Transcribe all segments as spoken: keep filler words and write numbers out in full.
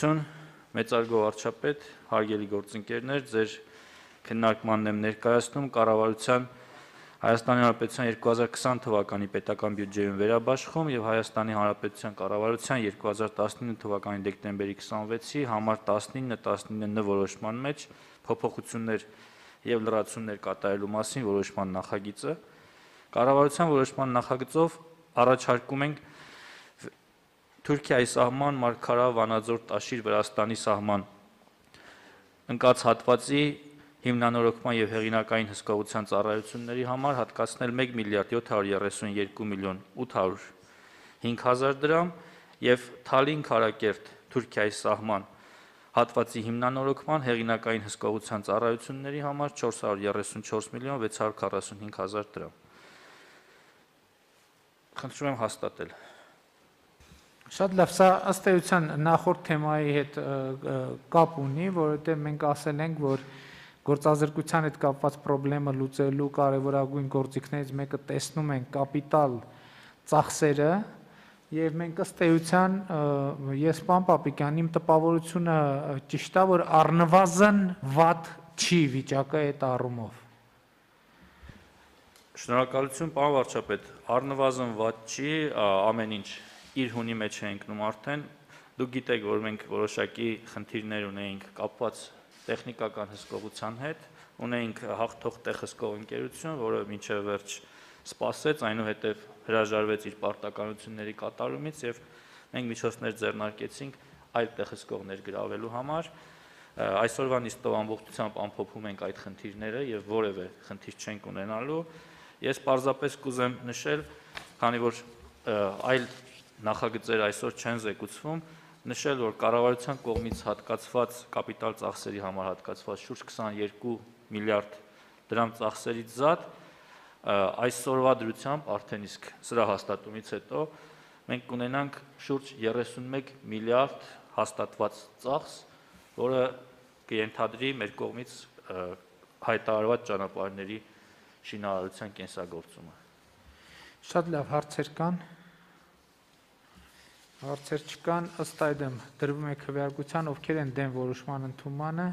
Շնորհակալություն, մեծարգո վարչապետ, հարգելի գործընկերներ, ձեր քննարկմանն եմ ներկայացնում կառավարության Հայաստանի Հանրապետության երկու հազար քսան թվականի պետական բյուջեում վերաբաշխում եւ Հայաստանի Հանրապետության կառավարության երկու հազար տասնինը թվականի դեկտեմբերի քսանվեցի համար տասնինը տասնինը որոշման մեջ փոփոխություններ եւ լրացումներ կատարելու մասին որոշման նախագիծը կառավարության որոշման նախագծով առաջարկում ենք Թուրքիայի սահման Մարգարա Վանաձոր Տաշիր Վրաստանի սահման ընկած հատվածի հիմնանորոգման եւ հեղինակային հսկողության ծառայությունների համար հատկացնել մեկ միլիարդ յոթ հարյուր երեսունյերկու միլիոն ութ հարյուր հինգ հազար դրամ եւ Թալին Քարակերտ Թուրքիայի սահման հատվածի հիմնանորոգման հեղինակային հսկողության ծառայությունների համար չորս հարյուր երեսունչորս միլիոն վեց հարյուր քառասունհինգ հազար դրամ Խնդրում եմ հաստատել Շատ լավ, սա ըստ էության նախորդ թեմայի հետ կապ ունի, որովհետեւ մենք ասել ենք, որ գործազրկության հետ կապված խնդիրը լուծելու կարևորագույն գործիքներից մեկը տեսնում ենք կապիտալ ծախսերը եւ մենք ըստ էության ես պարոն Պապիկյան իմ տպավորությունը ճիշտ է որ առնվազն վատ չի վիճակը այդ առումով Շնորհակալություն պարոն վարչապետ առնվազն վատ չի ամեն ինչ իր հունի մեջ է ընկնում արդեն դուք գիտեք որ մենք որոշակի խնդիրներ ունեինք կապված տեխնիկական հսկողության հետ ունեինք հաղթող տեղ հսկող ընկերություն որը մինչև վերջ սպասեց այնուհետև հրաժարվեց իր պարտականությունների կատարումից եւ մենք միջոցներ ձեռնարկեցինք այլ տեղ հսկողներ գրավելու համար այսօրվա նիստով ամբողջությամբ ամփոփում ենք այդ խնդիրները եւ որևէ խնդիր չենք ունենալու ես պարզապես կուզեմ նշել քանի որ այլ նախագծեր այսօր չեն զեկուցվում նշել որ կառավարության կողմից հատկացված կապիտալ ծախսերի համար հատկացված շուրջ քսաներկու միլիարդ դրամ ծախսերից զատ այսօրվա դրությամբ արդեն իսկ սրա հաստատումից հետո մենք կունենանք շուրջ երեսունմեկ միլիարդ հաստատված ծախս որը կենթադրի մեր կողմից հայտարարված ճանապարհների շինարարության կենսագործումը Շատ լավ հարցեր կան Հարցեր չկան, ըստ այդմ դրվում է քվեարկության, ովքեր են դեմ որոշման ընդունմանը,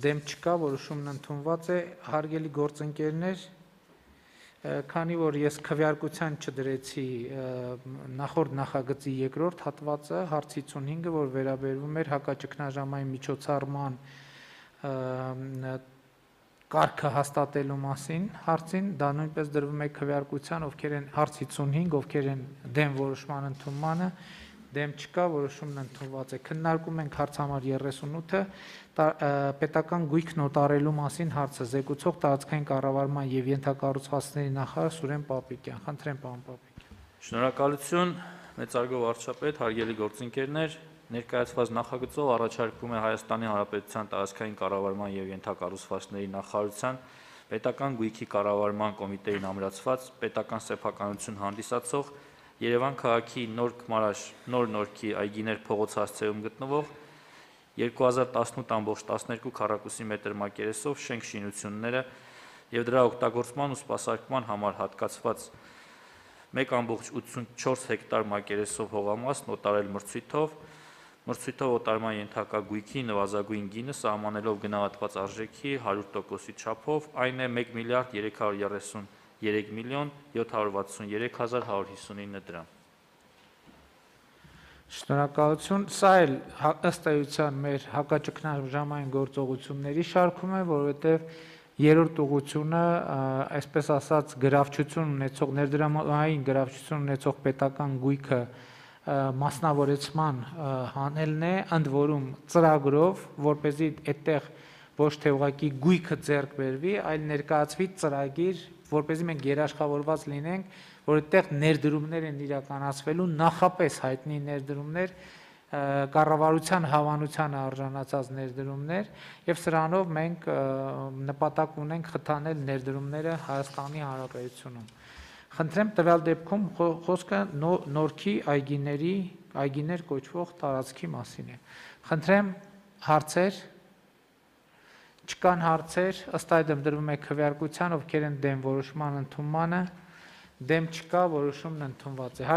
դեմ չկա, որոշումն ընդունված է, հարգելի գործընկերներ, քանի որ ես քվեարկության չդրեցի նախորդ նախագծի երկրորդ հատվածը, հարց հիսունհինգը, որ վերաբերվում էր հակաճգնաժամային միջոցառման կարգը հաստատելու մասին հարցին, դա նույնպես դրվում է քվեարկության, ովքեր են հարց հիսունհինգ, ովքեր են դեմ որոշման ընդունմանը, դեմ չկա, որոշումն ընդունված է։ Քննարկում ենք հարց համար երեսունութը, պետական գույքն օտարելու մասին հարցը զեկուցող տարածքային կառավարման եւ ենթակառուցվածքների նախարար Սուրեն Պապիկյան։ Խնդրեմ, պարոն Պապիկյան։ Շնորհակալություն, մեծարգո վարչապետ, հարգելի գործընկերներ, Ներկայացված նախագծով առաջարկվում է Հայաստանի Հանրապետության տարածքային կառավարման եւ ենթակառուցվածքների նախարարության պետական գույքի կառավարման կոմիտեին ամրացված պետական սեփականություն հանդիսացող Երևան քաղաքի Նոր Քմարաշ Նոր Նորքի այգիներ փողոց հասցեում գտնվող երկու հազար տասնութ ամբողջ տասներկու քառակուսի մետր մակերեսով շենք շինությունները եւ դրա օգտագործման ու սպասարկման համար հատկացված մեկ ամբողջ ութսունչորս հեկտար մակերեսով հողամասն օտարել մրցույթով Մրցույթով օտարման ենթակա գույքի նվազագույն գինը սահմանելով գնահատված արժեքի հարյուր տոկոսի չափով, այն է մեկ միլիարդ երեք հարյուր երեսունյերեք միլիոն յոթ հարյուր վաթսունյերեք հազար հարյուր հիսունինը դրամ։ Շնորհակալություն, սա էլ ըստ էության մեր հակաճգնաժամային գործողությունների շարքում է, որովհետև երրորդ ուղղությունը, այսպես ասած, գրավչություն ունեցող ներդրումային գրավչություն ունեցող պետական գույքը մասնավորեցման հանելն է, ընդ որում ծրագրով, որպեսզի այդտեղ ոչ թե ուղղակի գույքը ձեռք բերվի, այլ ներկայացվի ծրագիր, որպեսզի մենք երաշխավորված լինենք, որ այդտեղ ներդրումներ են իրականացվելու, նախապես հայտնի ներդրումներ, կառավարության հավանության արժանացած ներդրումներ, եւ սրանով մենք նպատակ ունենք խթանել ներդրումները Հայաստանի Հանրապետությունում։ Խնդրեմ տվյալ դեպքում խոսքը Նորքի այգիների, այգիներ կոչվող տարածքի մասին է։ Խնդրեմ հարցեր, չկան հարցեր, ըստ այդմ դրվում է քվեարկության, ովքեր են դեմ որոշման ընդունմանը, դեմ չկա, որոշումն ընդունված է։